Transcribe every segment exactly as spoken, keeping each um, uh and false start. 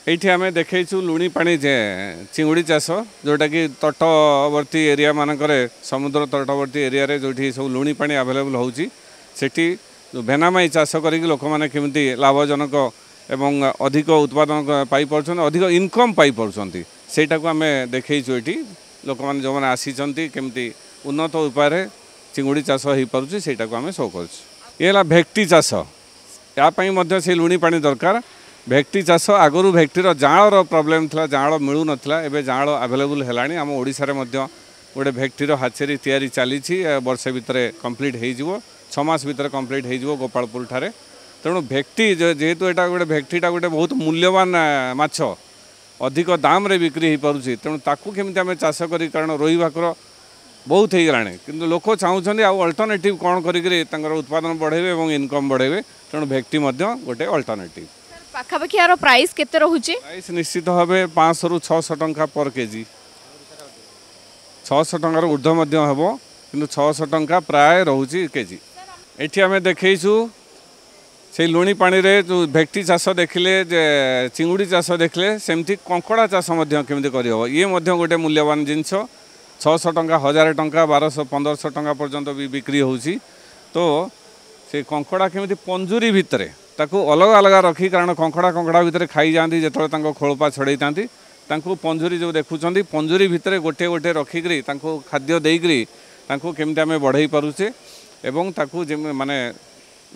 ଏଇଠି ଆମେ ଦେଖେଇଛୁ ଲୁଣି ପାଣି ଯେ ଚିଙ୍ଗୁଡ଼ି ଚାଷ, ଯେଉଁଟାକି ତଟବର୍ତ୍ତୀ ଏରିଆ ମାନଙ୍କରେ, ସମୁଦ୍ର ତଟବର୍ତ୍ତୀ ଏରିଆରେ ଯେଉଁଠି ସବୁ ଲୁଣି ପାଣି ଆଭେଲେବୁଲ୍ ହେଉଛି, ସେଠି ଭେନାମାଇ ଚାଷ କରିକି ଲୋକମାନେ କେମିତି ଲାଭଜନକ ଏବଂ ଅଧିକ ଉତ୍ପାଦନ ପାଇପାରୁଛନ୍ତି, ଅଧିକ ଇନକମ୍ ପାଇପାରୁଛନ୍ତି, ସେଇଟାକୁ ଆମେ ଦେଖେଇଛୁ। ଏଠି ଲୋକମାନେ ଯେଉଁମାନେ ଆସିଛନ୍ତି, କେମିତି ଉନ୍ନତ ଉପାୟରେ ଚିଙ୍ଗୁଡ଼ି ଚାଷ ହୋଇପାରୁଛି, ସେଇଟାକୁ ଆମେ ଶୋ କରୁଛୁ। ଇଏ ହେଲା ଭେକ୍ଟି ଚାଷ। ୟା ପାଇଁ ମଧ୍ୟ ସେଇ ଲୁଣି ପାଣି ଦରକାର। ଭେକ୍ଟି ଚାଷ, ଆଗରୁ ଭେକ୍ଟିର ଜାଆଁଳର ପ୍ରୋବ୍ଲେମ୍ ଥିଲା, ଜାଆଁଳ ମିଳୁନଥିଲା। ଏବେ ଜାଆଁଳ ଆଭେଲେବୁଲ୍ ହେଲାଣି। ଆମ ଓଡ଼ିଶାରେ ମଧ୍ୟ ଗୋଟେ ଭେକ୍ଟିର ହାଚେରୀ ତିଆରି ଚାଲିଛି, ବର୍ଷେ ଭିତରେ କମ୍ପ୍ଲିଟ୍ ହେଇଯିବ, ଛଅ ମାସ ଭିତରେ କମ୍ପ୍ଲିଟ୍ ହେଇଯିବ ଗୋପାଳପୁର ଠାରେ। ତେଣୁ ଭେକ୍ଟି ଯେହେତୁ ଏଇଟା ଗୋଟେ, ଭେକ୍ଟିଟା ଗୋଟେ ବହୁତ ମୂଲ୍ୟବାନ ମାଛ, ଅଧିକ ଦାମରେ ବିକ୍ରି ହେଇପାରୁଛି, ତେଣୁ ତାକୁ କେମିତି ଆମେ ଚାଷ କରି, କାରଣ ରୋହି ଭାକୁର ବହୁତ ହେଇଗଲାଣି, କିନ୍ତୁ ଲୋକ ଚାହୁଁଛନ୍ତି ଆଉ ଅଲ୍ଟରନେଟିଭ୍ କ'ଣ କରିକିରି ତାଙ୍କର ଉତ୍ପାଦନ ବଢ଼େଇବେ ଏବଂ ଇନକମ୍ ବଢ଼େଇବେ। ତେଣୁ ଭେକ୍ଟି ମଧ୍ୟ ଗୋଟେ ଅଲ୍ଟରନେଟିଭ୍। ପାଖାପାଖି ଏହାର ପ୍ରାଇସ୍ କେତେ ରହୁଛି? ପ୍ରାଇସ୍ ନିଶ୍ଚିତ ଭାବେ ପାଞ୍ଚଶହରୁ ଛଅଶହ ଟଙ୍କା ପର କେଜି। ଛଅଶହ ଟଙ୍କାରୁ ଉର୍ଦ୍ଧ୍ୱ ମଧ୍ୟ ହେବ, କିନ୍ତୁ ଛଅଶହ ଟଙ୍କା ପ୍ରାୟ ରହୁଛି କେଜି। ଏଠି ଆମେ ଦେଖେଇଛୁ ସେଇ ଲୁଣି ପାଣିରେ ଯେଉଁ ଭେକ୍ଟି ଚାଷ ଦେଖିଲେ, ଯେ ଚିଙ୍ଗୁଡ଼ି ଚାଷ ଦେଖିଲେ, ସେମିତି କଙ୍କଡ଼ା ଚାଷ ମଧ୍ୟ କେମିତି କରିହେବ। ଇଏ ମଧ୍ୟ ଗୋଟେ ମୂଲ୍ୟବାନ ଜିନିଷ। ଛଅଶହ ଟଙ୍କା, ହଜାରେ ଟଙ୍କା, ବାରଶହ ପନ୍ଦରଶହ ଟଙ୍କା ପର୍ଯ୍ୟନ୍ତ ବି ବିକ୍ରି ହେଉଛି। ତ ସେ କଙ୍କଡ଼ା କେମିତି ପଞ୍ଜୁରୀ ଭିତରେ ତାକୁ ଅଲଗା ଅଲଗା ରଖି, କାରଣ କଙ୍କଡ଼ା କଙ୍କଡ଼ା ଭିତରେ ଖାଇଯାଆନ୍ତି ଯେତେବେଳେ ତାଙ୍କ ଖୋଳପା ଛଡ଼େଇଥାନ୍ତି, ତାଙ୍କୁ ପଞ୍ଜୁରୀ ଯେଉଁ ଦେଖୁଛନ୍ତି, ପଞ୍ଜୁରୀ ଭିତରେ ଗୋଟିଏ ଗୋଟିଏ ରଖିକିରି ତାଙ୍କୁ ଖାଦ୍ୟ ଦେଇକିରି ତାଙ୍କୁ କେମିତି ଆମେ ବଢ଼େଇ ପାରୁଛେ ଏବଂ ତାକୁ ମାନେ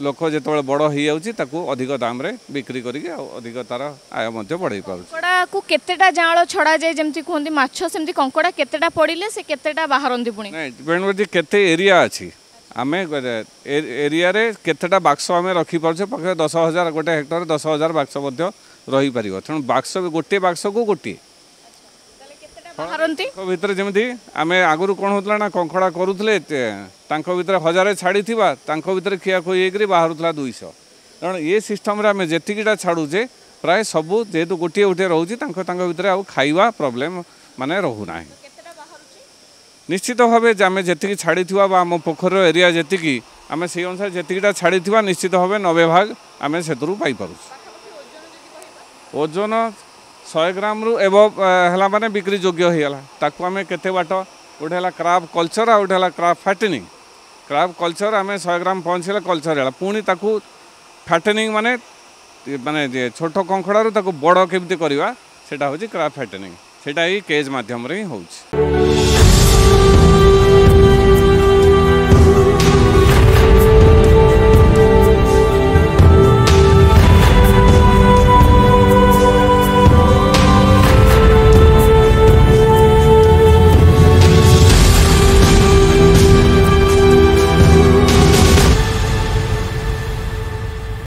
ଲୋକ ଯେତେବେଳେ ବଡ଼ ହେଇଯାଉଛି, ତାକୁ ଅଧିକ ଦାମରେ ବିକ୍ରି କରିକି ଆଉ ଅଧିକ ତାର ଆୟ ମଧ୍ୟ ବଢ଼େଇ ପାରୁଛି। କଙ୍କଡ଼ାକୁ କେତେଟା ଜାଆଁଳ ଛଡ଼ାଯାଏ? ଯେମିତି କୁହନ୍ତି ମାଛ, ସେମିତି କଙ୍କଡ଼ା କେତେଟା ପଡ଼ିଲେ ସେ କେତେଟା ବାହାରନ୍ତି ପୁଣି? ନାଇଁ, ଡିପେଣ୍ଡ କରୁଛି କେତେ ଏରିଆ ଅଛି, ଆମେ ଏରିଆରେ କେତେଟା ବାକ୍ସ ଆମେ ରଖିପାରୁଛେ। ପାଖରେ ଦଶ ହଜାର, ଗୋଟେ ହେକ୍ଟର ଦଶ ହଜାର ବାକ୍ସ ମଧ୍ୟ ରହିପାରିବ। ତେଣୁ ବାକ୍ସ, ଗୋଟିଏ ବାକ୍ସକୁ ଗୋଟିଏ ବାହାରନ୍ତି ଭିତରେ। ଯେମିତି ଆମେ ଆଗରୁ କ'ଣ ହେଉଥିଲା ନା, କଙ୍କଡ଼ା କରୁଥିଲେ, ତାଙ୍କ ଭିତରେ ହଜାରେ ଛାଡ଼ିଥିବା, ତାଙ୍କ ଭିତରେ ଖିଆଖୁଇ ହେଇକରି ବାହାରୁଥିଲା ଦୁଇଶହ। ତେଣୁ ଏ ସିଷ୍ଟମ୍ରେ ଆମେ ଯେତିକିଟା ଛାଡ଼ୁଛେ, ପ୍ରାୟ ସବୁ ଯେହେତୁ ଗୋଟିଏ ଗୋଟିଏ ରହୁଛି, ତାଙ୍କ ତାଙ୍କ ଭିତରେ ଆଉ ଖାଇବା ପ୍ରୋବ୍ଲେମ୍ ମାନେ ରହୁନାହିଁ। ନିଶ୍ଚିତ ଭାବେ ଆମେ ଯେତିକି ଛାଡ଼ିଥିବା ବା ଆମ ପୋଖରୀର ଏରିଆ ଯେତିକି, ଆମେ ସେଇ ଅନୁସାରେ ଯେତିକିଟା ଛାଡ଼ିଥିବା, ନିଶ୍ଚିତ ଭାବେ ନବେ ଭାଗ ଆମେ ସେଥିରୁ ପାଇପାରୁଛୁ। ଓଜନ ଶହେ ଗ୍ରାମରୁ ଏବ ହେଲା ମାନେ ବିକ୍ରି ଯୋଗ୍ୟ ହେଇଗଲା। ତାକୁ ଆମେ କେତେ ବାଟ, ଗୋଟେ ହେଲା କ୍ରାବ୍ କଲଚର୍ ଆଉ ଗୋଟେ ହେଲା କ୍ରାବ୍ ଫ୍ୟାଟେନିଂ। କ୍ରାବ୍ କଲଚର୍ ଆମେ ଶହେ ଗ୍ରାମ ପହଞ୍ଚିଲେ କଲଚର୍ ହେଲା, ପୁଣି ତାକୁ ଫ୍ୟାଟେନିଂ ମାନେ ମାନେ ଛୋଟ କଙ୍କଡ଼ାରୁ ତାକୁ ବଡ଼ କେମିତି କରିବା, ସେଇଟା ହେଉଛି କ୍ରାବ୍ ଫ୍ୟାଟେନିଂ। ସେଇଟା ଏଇ କେଜ୍ ମାଧ୍ୟମରେ ହିଁ ହେଉଛି।